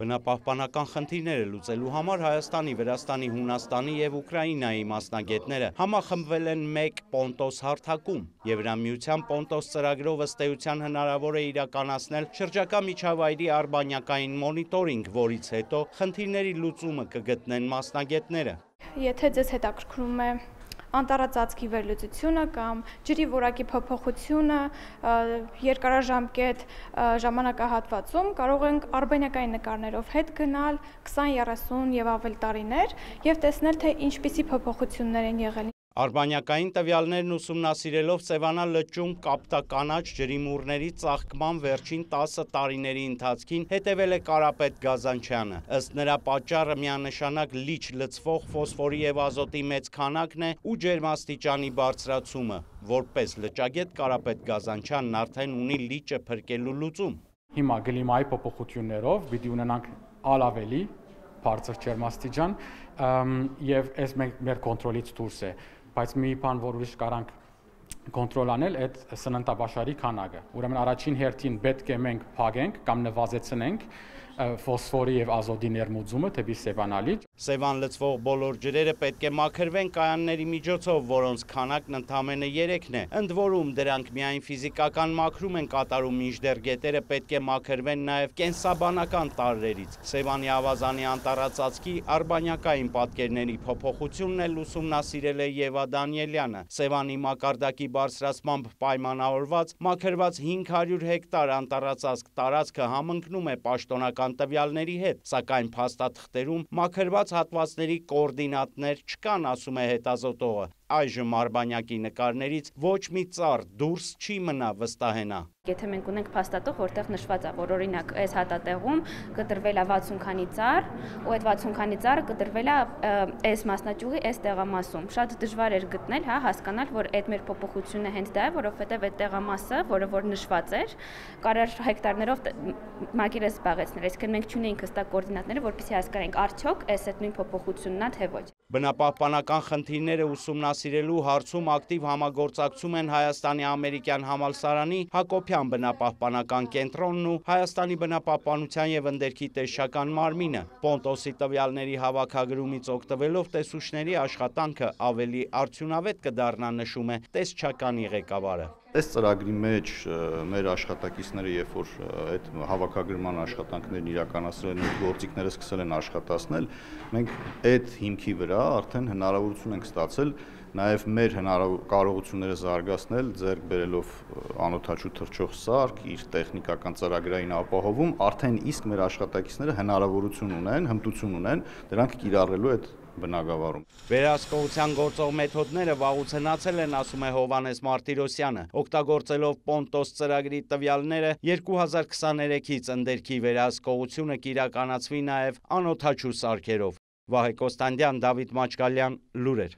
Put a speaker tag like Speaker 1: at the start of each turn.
Speaker 1: Բնապահպանական խնդիրները լուծելու համար Հայաստանի, Վրաստանի, Հունաստանի և Ուկրաինայի մասնագետները համախմբվել են մեկ Պոնտոս հարթակում։ Եվրամիության Պոնտոս ծրագրով ըստ էության հնարավոր է իրականացնել շրջակա միջավայրի արբանյակային մոնիտորինգ, որից հետո խնդիրների լուծումը կգտնեն մասնագետները։
Speaker 2: Եթե ձեզ հետաքրքրում է անտառածածկի վերլուծությունը կամ ջրի որակի փոփոխությունը երկարաժամկետ ժամանակահատվածում, կարող ենք արբանյակային նկարներով հետ գնալ 20, 30 և ավել տարիներ և տեսնել, թե ինչպիսի փոփոխություններ են եղել։
Speaker 1: Արբանյակային տվյալներն ուսումնասիրելով Սևանա լճում կապտականաչ ջրիմուռների ծաղկման վերջին 10 տարիների ընթացքին հետևել է Կարապետ Գազանչյանը։ Ըստ նրա պատճառը միանշանակ լիճ լցվող ֆոսֆորի և ազոտի մեծ քանակն է ու ջերմաստիճանի բարձրացումը։ Որպես լճագետ Կարապետ Գազանչյանն արդեն ունի լիճը փրկելու լուծում։
Speaker 3: Հիմա կլիմայի փոփոխություններով պիտի ունենանք ավելի բարձր ջերմաստիճան եւ այս մեր կոնտրոլից դուրս է, բայց մի բան, որ ուրիշ կարանք կոնտրոլ անել, այդ սննդաբաշարի քանակը։ Ուրեմն առաջին հերթին պետք է մենք փակենք կամ նվազեցնենք ֆոսֆորի եւ ազոտի ներմուծումը դեպի Սևանա լիճ։
Speaker 1: Սևան լցվող բոլոր ջրերը պետք է մաքրվեն կայանների միջոցով, որոնց քանակն ընդամենը 3-ն է։ Ընդ որում դրանք միայն ֆիզիկական մաքրում են կատարում, մինչդեռ գետերը պետք է մաքրվեն նաև կենսաբանական տարրերից։ Սևանի ավազանի անտառածածկի արբանյակային պատկերների փոփոխությունն էլ ուսումնասիրել է Եվա Դանիելյանը։ Սևանի մակարդակի բարձրացմամբ պայմանավորված մաքրված 500 հեկտար անտառածածկ տարածքը համընկնում է պաշտոնական տվյալների հետ, սակայն փաստաթղթերում մաքրված հատվածների կոորդինատներ չկան, ասում է հետազոտողը։ Այժմ արբանյակի նկարներից ոչ մի ծառ դուրս չի մնա վստահենա։
Speaker 4: Եթե մենք ունենք փաստաթղթ, որտեղ նշված է, որ օրինակ այս հատատեղում կտրվել է 60 քանի ծառ, ու այդ 60 քանի ծառը կտրվել է այս մասնաճյուղի այս տեղամասում։ Շատ դժվար էր գտնել, հասկանալ, որ այդ մեր փոփոխությունը հենց դա է, որովհետև այդ տեղամասը, որը որ նշված էր, կարար հեկտարներով մակերես զբաղեցնել։ Այսինքն մենք չունեինք հստակ կոորդինատները, որպեսզի հասկանանք արդյոք այդ նույն փոփոխությունն է, թե ոչ։
Speaker 1: Բնապահպանական խնդիրները ուսումնասիրելու հարցում ակտիվ համագործակցում են Հայաստանի ամերիկյան համալսարանի Հակոբյան բնապահպանական կենտրոնն ու Հայաստանի բնապահպանության և ընդերքի տեսչական մարմինը։ Պոնտոսի տվյալների հավաքագրումից օգտվելով տեսուչների աշխատանքը ավելի արդյունավետ կդառնա, նշում է տեսչականի ղեկավարը։
Speaker 5: Այս ծրագրի մեջ մեր աշխատակիցները, երբ որ այդ հավաքագրման աշխատանքներն իրականացրել են, գործիքները սկսել են աշխատացնել, մենք այդ հիմքի վրա արդեն հնարավորություն ենք ստացել նաև մեր կարողությունները զարգացնել, ձեռք բերելով անօդաչու թռչող սարք, իր տեխնիկական ծրագրային ապահովում, արդեն իսկ մեր աշխատակիցները հնարավորություն ունեն, հմտություն ունեն դրանք կիրառելու այդ բնագավառում։
Speaker 1: Վերահսկողության գործող մեթոդները վաղուց հնացել են, ասում է Հովհաննես Մարտիրոսյանը, օգտագործելով Պոնտոս ծրագրի տվյալները 2023-ից ընդերքի վերահսկողությունը կիրականացվի նաև անօդաչու սարքերով։ Վահե Կոստանդյան, Դավիթ Մաչկալյան, լուրեր։